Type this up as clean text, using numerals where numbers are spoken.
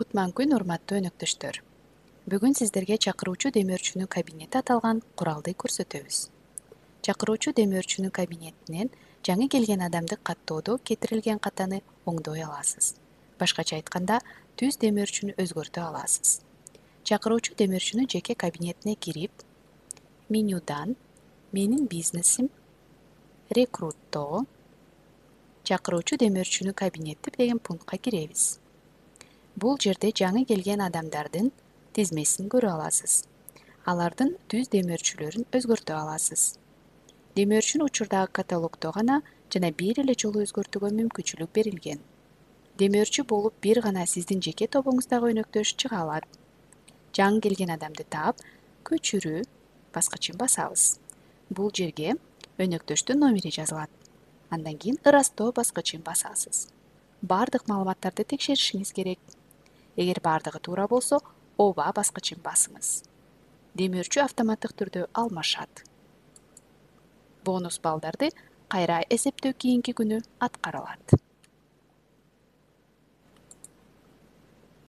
Кутман урматтуу өнөктөштөр. Бүгүн сиздерге чакыруучу демөөрчүнүн кабинети аталган куралды көрсөтөбүз. Чакыруучу демөөрчүнүн кабинетинен жаңы келген адамды каттоодо кетирилген катаны оңдой аласыз. Башкача айтканда, түз демөөрчүнү өзгөртө аласыз. Чакыруучу демөөрчүнүн жеке кабинетине кирип, менюдан «Менин бизнесим», «Рекруттоо», «Чакыруучу демөөрчүнүн кабинети» деген пунктка киребиз. Бул жерде жаңы келген адамдардын тизмесин көрө аласыз. Алардын түз демөөрчүлөрүн өзгөртө аласыз. Демөөрчүнүн учурдагы каталогдо гана жана бир эле жолу өзгөртүүгө мүмкүнчүлүк берилген. Демөөрчү болуп бир гана сиздин жеке тобуңуздагы өнөктөш чыга алат. Жаңы келген адамды таап, көчүрүү баскычын басабыз. Бул жерге өнөктөштүн номери жазылат. Андан кийин ырастоо баскычын басасыз. Бардык маалыматтарды текшеришиңиз керек. Эгер бардыгы туура болсо, ооба баскычын басыңыз. Демөөрчү автоматтык түрдө алмашат. Бонус балдарды кайра эсептөө кийинки күнү аткарылат.